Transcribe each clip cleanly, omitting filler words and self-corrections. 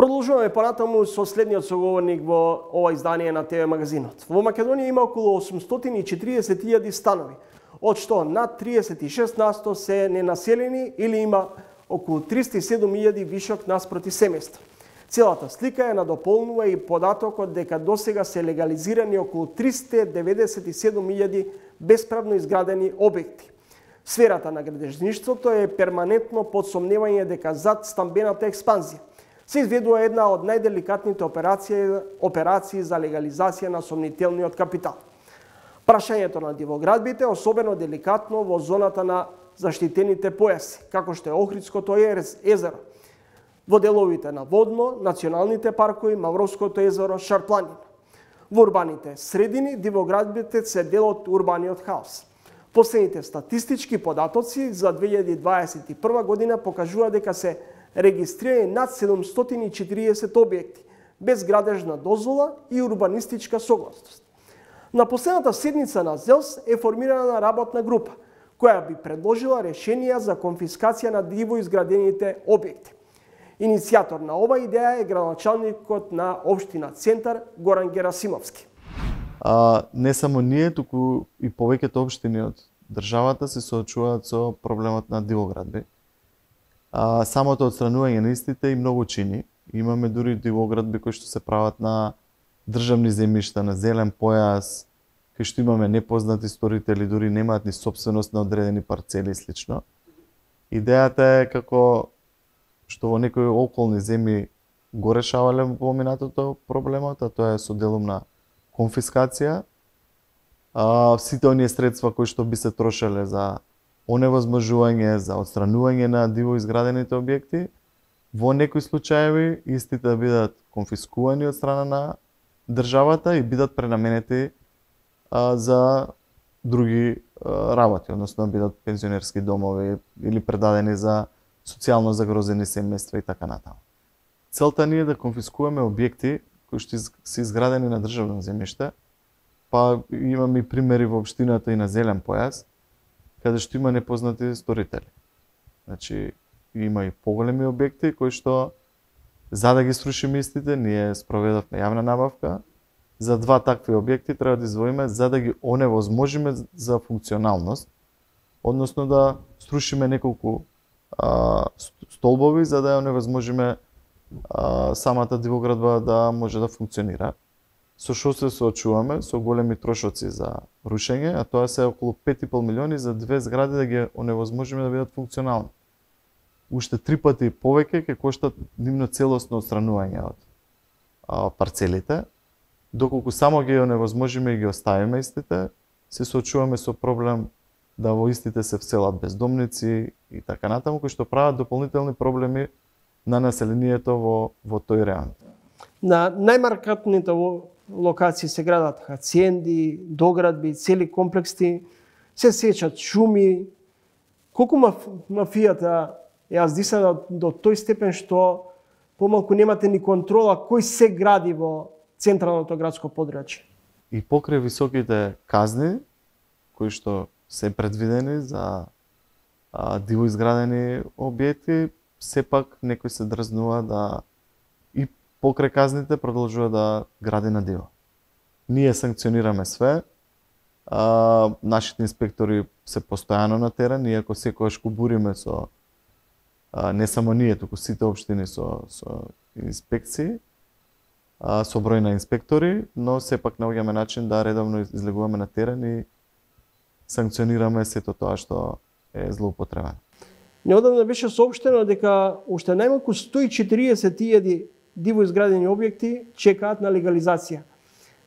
Продолжуваме понатаму со следниот соговорник во ова издание на ТВ магазинот. Во Македонија има околу 840.000 станови, од што над 36% се ненаселени или има околу 307.000 вишок наспроти семејства. Целата слика ја надополнува и податокот дека досега се легализирани околу 397.000 бесправно изградени објекти. Сферата на градежништвото е перманентно под сомневање дека зад стамбената експанзија се изведува една од најделикатните операции за легализација на сомнителниот капитал. Прашањето на дивоградбите е особено деликатно во зоната на заштитените појаси, како што е Охридското езеро, во деловите на Водно, националните паркови, Мавровското езеро, Шарпланина. Во урбаните средини дивоградбите се дел од урбаниот хаос. Последните статистички податоци за 2021 година покажува дека се регистрирани над 740 објекти без градежна дозвола и урбанистичка согласност. На последната седница на ЗЕЛС е формирана работна група која би предложила решенија за конфискација на диво изградените објекти. Иницијатор на ова идеја е градоначалникот на општина Центар Горан Герасимовски. Не само ние, туку и повеќето општини од државата се соочуваат со проблемот на дивоградби. Самото отстранување на истите и многу чини. Имаме дури дивоградби кои што се прават на државни земјишта, на зелен појас, кај што имаме непознати сторители, дури немаат ни собственост на одредени парцели и слично. Идејата е како што во некои околни земји го решавале во минатото проблемот, а тоа е со делумна конфискација. Сите оние средства кои што би се трошеле за оневозможување, за отстранување на диво изградените објекти, во некои случаеви истите да бидат конфискувани од страна на државата и бидат пренаменети за други работи, односно бидат пензионерски домови или предадени за социјално загрозени семејства и така натаму. Целта ни е да конфискуваме објекти кои што се изградени на државно земјиште, па имаме и примери во општината и на зелен појас, каде што има непознати сторители. Значи, има и поголеми објекти кои што, за да ги срушиме истите, ние спроведовме јавна набавка. За два такви објекти треба да издвоиме за да ги оневозможиме за функционалност, односно да срушиме неколку столбови за да ја оневозможиме самата дивоградба да може да функционира. Со што се соочуваме? Со големи трошоци за рушење, а тоа се околу 5,5 милиони за две згради да ги оневозможиме да бидат функционални. Уште 3 пати повеќе ќе коштат нивно целосно отстранување од парцелите, доколку само ги оневозможиме и ги оставиме истите, се соочуваме со проблем да во истите се вселат бездомници и така натаму, кои што прават дополнителни проблеми на населението во тој район. На најмаркантните локации се градат хациенди, доградби, цели комплекси, се сечат шуми. Колку мафијата е аздисана до тој степен што помалку немате ни контрола кој се гради во централното градско подрачје. И покрај високите казни кои што се предвидени за диво изградени објекти, сепак некој се дрзнува да и покрај казните продолжува да гради на диво. Ние санкционираме све, нашите инспектори се постојано на терен, иако секогаш кубуриме со не само ние, туку сите општини со инспекции, со број на инспектори, но сепак наоѓаме начин да редовно излегуваме на терен и санкционираме сето тоа што е злоупотребено. Неодамна беше соопштено дека уште најмалку 140.000 диво изградени објекти чекаат на легализација.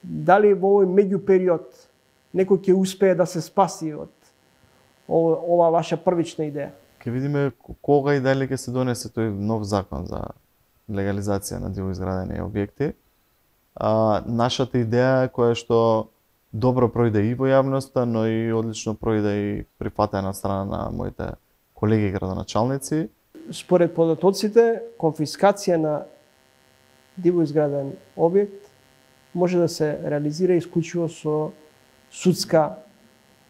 Дали во овој меѓупериод некој ќе успее да се спаси од ова ваша првична идеја? Ќе видиме кога и дали ќе се донесе тој нов закон за легализација на диво изградени објекти. Нашата идеја е која што добро пројде и во јавноста, но и одлично пројде и прифатена од страна на моите колеги градоначалници. Според податоците, конфискација на диво изграден објект може да се реализира исклучиво со судска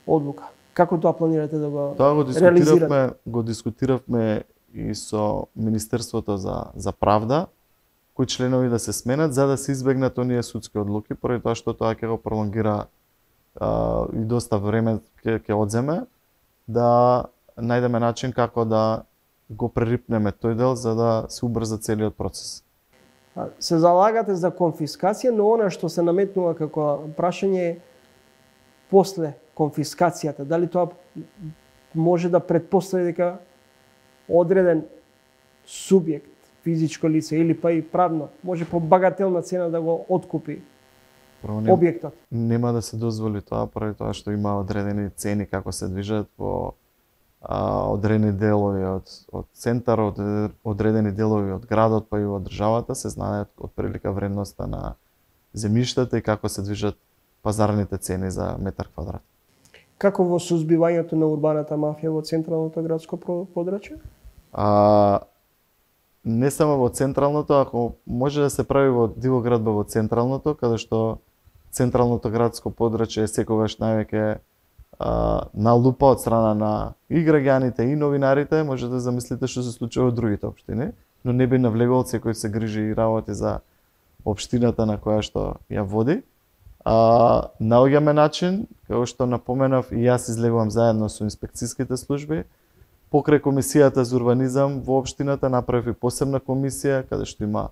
одлука. Како тоа планирате да го реализирате? Тоа го дискутиравме и со Министерството за правда, кои членови да се сменат за да се избегнат оние судски одлуки, поради тоа што тоа ќе го пролонгира и доста време ќе одземе, да најдеме начин како да го прерипнеме тој дел за да се убрза целиот процес. Се залагате за конфискација, но она што се наметнува како прашање е после конфискацијата. Дали тоа може да предпостави дека одреден субјект, физичко лице или па и правно, може по багателна цена да го откупи објектот? Нема да се дозволи тоа, поради тоа што има одредени цени како се движат во одредени делови од центарот, одредени делови од градот, па и од државата, се знае од прилика вредноста на земјиштата и како се движат пазарните цени за метар квадрат. Како во сузбивањето на урбаната мафија во централното градско подрачје? Не само во централното, ако може да се прави во Дивоградба во централното, каде што централното градско подрачје е секогаш највеќе на лупа од страна на и граѓаните и новинарите, може да замислите што се случува во другите општини, но не би навлегувал, секој се грижи и работи за општината на која што ја води. Наоѓаме начин, како што напоменав, и јас излегувам заедно со инспекцијските служби. Покрај комисијата за урбанизам во општината направи посебна комисија каде што има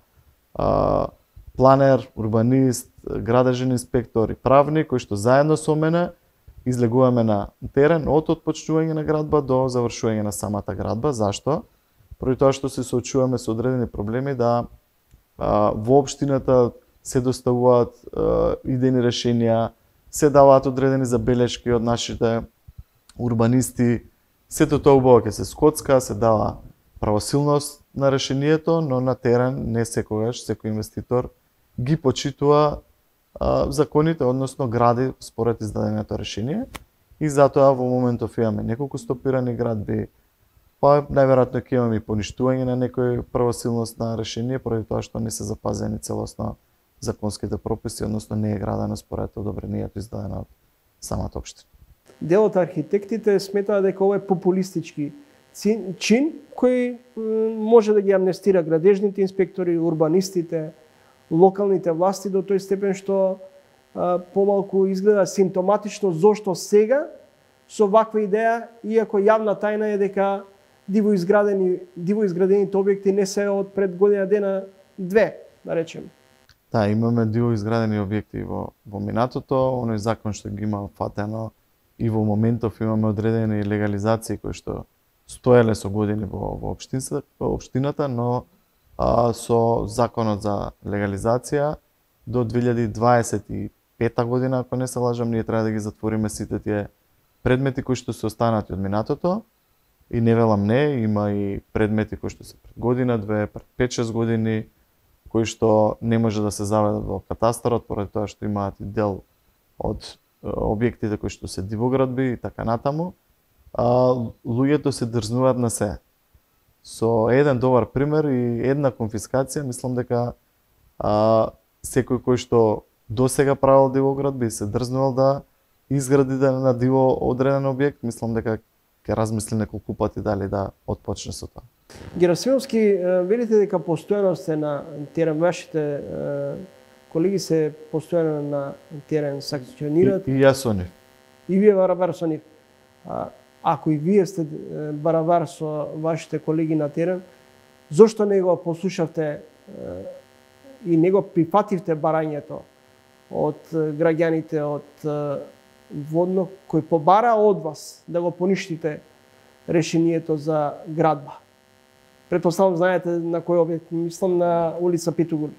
планер, урбанист, градежен инспектор и правник кои што заедно со мене излегуваме на терен од отпочнување на градба до завршување на самата градба. Зашто? Поради тоа што се соочуваме со одредени проблеми да во општината се доставуваат идејни решенија, се даваат одредени забелешки од нашите урбанисти. Сето тоа убаво ќе се скоцка, се дава правосилност на решението, но на терен не секогаш секој инвеститор ги почитува законите, односно гради според издаденото решение. И затоа во моментов имаме неколку стопирани градби, па најверојатно ќе имаме и поништување на некој правосилност на решение, поради тоа што не се запазени целосно законските прописи, односно не е градено според одобрението издадено од самата општина. Дел од архитектите сметаат дека ова е популистички чин кој може да ги амнестира градежните инспектори, урбанистите, локалните власти до тој степен што помалку изгледа симптоматично зошто сега со ваква идеја, иако јавна тајна е дека диво изградените објекти не се од пред година дена две, да речем. Да, имаме диво изградени објекти во минатото, оној закон што ги има фатено и во моментов имаме одредени легализации кои што стоеле со години во општината, но со законот за легализација до 2025 година, ако не се лажам, ние треба да ги затвориме сите тие предмети кои што се останати од минатото. И не велам не, има и предмети кои што се пред година, две, пред 5-6 години, кои што не може да се заведат во катастарот, поради тоа што имаат и дел од објектите кои што се дивоградби и така натаму. Луѓето се дрзнуваат на се. Со еден добар пример и една конфискација, мислам дека секој кој што досега правил дивоградби и се дрзнувал да изгради на диво одреден објект, мислам дека ќе размисли неколку пати дали да отпочне со тоа. Герасимовски, велите дека постојано сте на терен, вашите колеги се постојано на терен санкционираат. И јас со нив. И вие барабар со нив. Ако и вие сте барабар со вашите колеги на терен, зошто не го послушавте и не го прифативте барањето од граѓаните од Водно, кој побара од вас да го поништите решението за градба? Предпоставам знаете на кој објект, мислам на улица Питугур.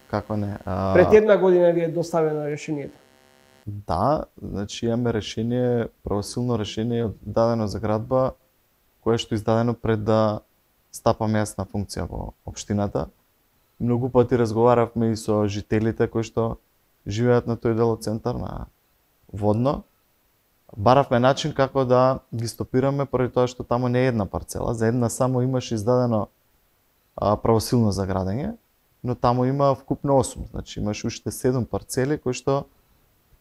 Како не? Пред една година ви е доставено решението. Да, значи имаме решение, правосилно решение дадено за градба, кое што издадено пред да стапаме јас на функција во општината. Многу пати разговаравме и со жителите кои што живеат на тој дел од центар на Водно. Баравме начин како да ги стопираме, поради тоа што таму не е една парцела, за една само имаше издадено правосилно за градење, но таму има вкупно 8, значи имаше уште 7 парцели кои што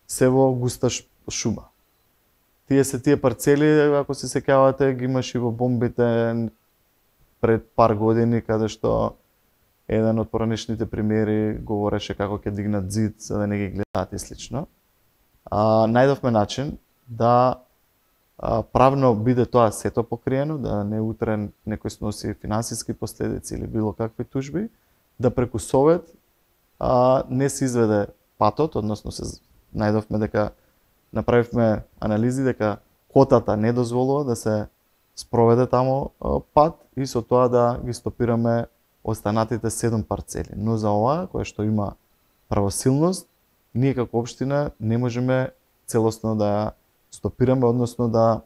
се во густа шума. Тие парцели, ако се сеќавате, ги имаше во бомбите пред пар години, каде што Еден од поранешните примери говореше како ќе дигнат зид за да не ги гледаат и слично. Најдовме начин да правно биде тоа сето покриено, да не утре некој сноси финансиски последици или било какви тужби, да преку совет не се изведе патот, односно се најдовме дека направивме анализи дека котата не дозволува да се спроведе тамо пат и со тоа да ги стопираме останатите 7 парцели. Но за ова, кое што има правосилност, ние како општина не можеме целосно да ја стопираме, односно да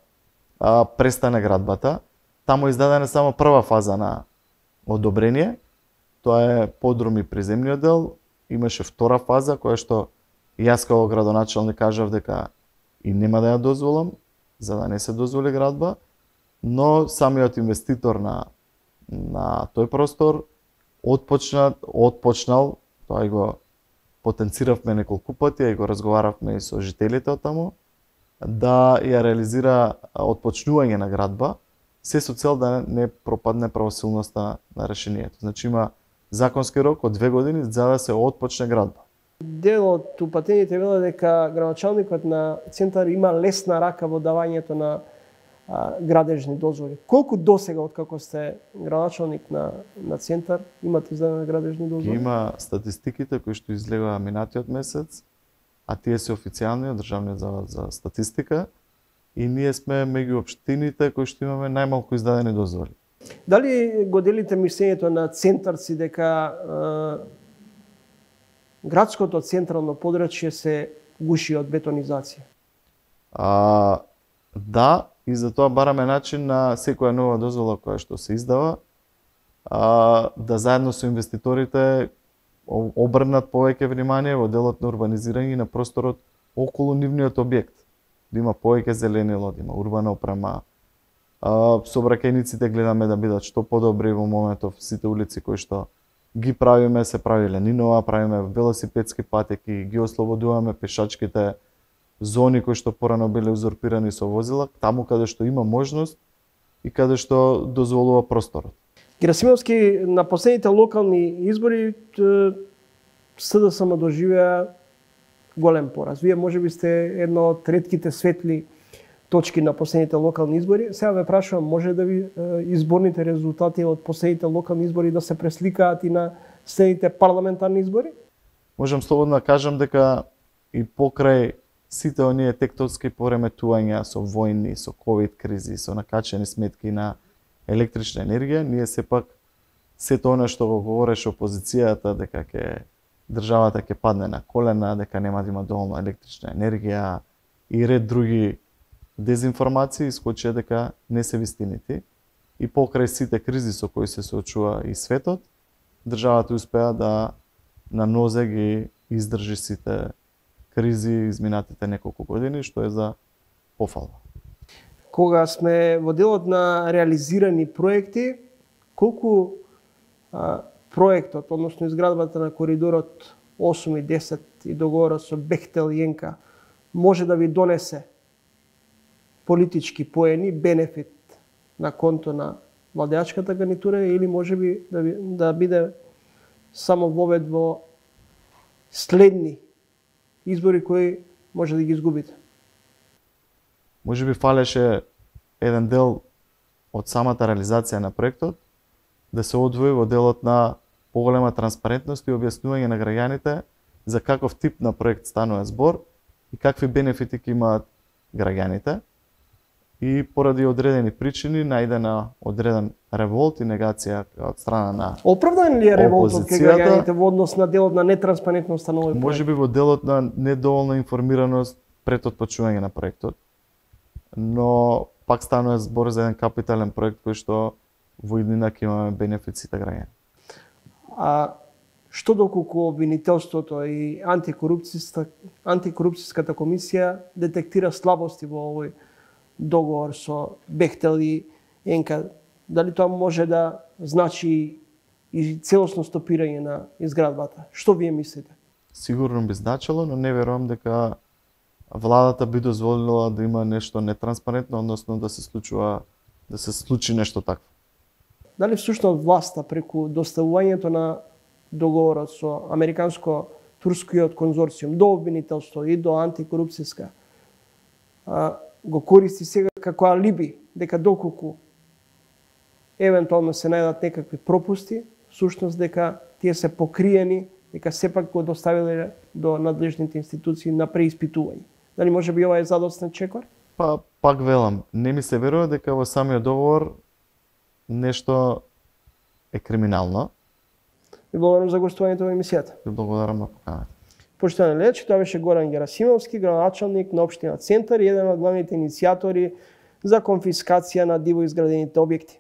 престане градбата. Таму е издадена само прва фаза на одобрение, тоа е подрум и приземниот дел. Имаше втора фаза, која што јас како градоначалник кажав дека и нема да ја дозволам, за да не се дозволи градба, но самиот инвеститор на тој простор отпочнал, тоа и го потенциравме неколку пати, и го разговаравме и со жителите од таму, да ја реализира отпочнување на градба, се со цел да не пропадне правосилноста на решението. Значи има законски рок од 2 години за да се отпочне градба. Дел од упатените вела дека градоначалникот на центар има лесна рака во давањето на градежни дозволи. Колку досега откако сте градоначалник на центар имате издадени градежни дозволи? Има статистиките кои што излегоа минатиот месец, а тие се официјални од Државниот завод за статистика, и ние сме меѓу општините кои што имаме најмалку издадени дозволи. Дали го делите мислењето на центарци дека градското централно подрачје се гуши од бетонизација? Да, и за тоа бараме начин на секоја нова дозвола која што се издава, да заедно со инвеститорите обрнат повеќе внимание во делот на урбанизирање на просторот околу нивниот објект. Да има повеќе зеленило, да има урбана опрема. Сообраќајниците гледаме да бидат што подобри во моментов. Сите улици кои што ги правиме, се прави ленинова, правиме велосипедски патеки, ги ослободуваме пешачките зони кои што порано биле узурпирани со возила, таму каде што има можност и каде што дозволува просторот. Герасимовски, на последните локални избори СДСМ доживеа голем пораз. Вие можеби сте едно од ретките светли точки на последните локални избори. Сега ве прашувам, може да ви изборните резултати од последните локални избори да се пресликаат и на следните парламентарни избори? Можам слободно да кажам дека и покрај сите оние тектонски пореметувања со војни, со ковид кризи, со накачени сметки на електрична енергија, ние сепак сето она што го говореше опозицијата дека државата ќе падне на колена, дека нема да има доволно електрична енергија и ред други дезинформации, искочија дека не се вистините. И покрај сите кризи со кои се соочува и светот, државата успеа да на нозе ги издржи сите кризи изминатите неколку години, што е за пофалба. Кога сме во делот на реализирани проекти, колку проектот, односно изградбата на коридорот 8 и 10 и договорот со Бехтел и ЕНКА може да ви донесе политички поени, бенефит на конто на владеачката гарнитура, или можеби да биде само вовед во следни избори кои може да ги изгубите? Можеби фалеше еден дел од самата реализација на проектот да се одвои во делот на поголема транспарентност и објаснување на граѓаните за каков тип на проект станува збор и какви бенефити ќе имаат граѓаните. И поради одредени причини најдена одреден револт и негација од страна на оправдан ли е револтот кај граѓаните во однос на делот на нетранспарентноста на овој проект? Можеби во делот на недоволна информираност пред отпочнување на проектот. Но пак станува збор за еден капитален проект кој што во иднина ќе имаме бенефиците граѓани. А што доколку обвинителството и антикорупцијската комисија детектира слабости во овој договор со Бехтел и ЕНКА, дали тоа може да значи и целосно стопирање на изградбата? Што вие мислите? Сигурно би значило, но не верувам дека владата би дозволила да има нешто нетранспарентно, односно да се случи нешто такво. дали всушност власта преку доставувањето на договорот со американско-турскиот конзорциум до обвинителство и до антикорупцијска го користи сега како алиби дека доколку евентуално се најдат некакви пропусти, всушност дека тие се покриени, дека сепак го доставиле до надлежните институции на преиспитување. Дали може би ова е задоцнат чекор? Па, пак велам, не ми се верува дека во самиот договор нешто е криминално. Ви благодарам за гостувањето во емисијата. Ви благодарам на поканата. Поштовани гледачи, тоа беше Горан Герасимовски, градоначалник на општина Центар и еден од главните иницијатори за конфискација на диво изградените објекти.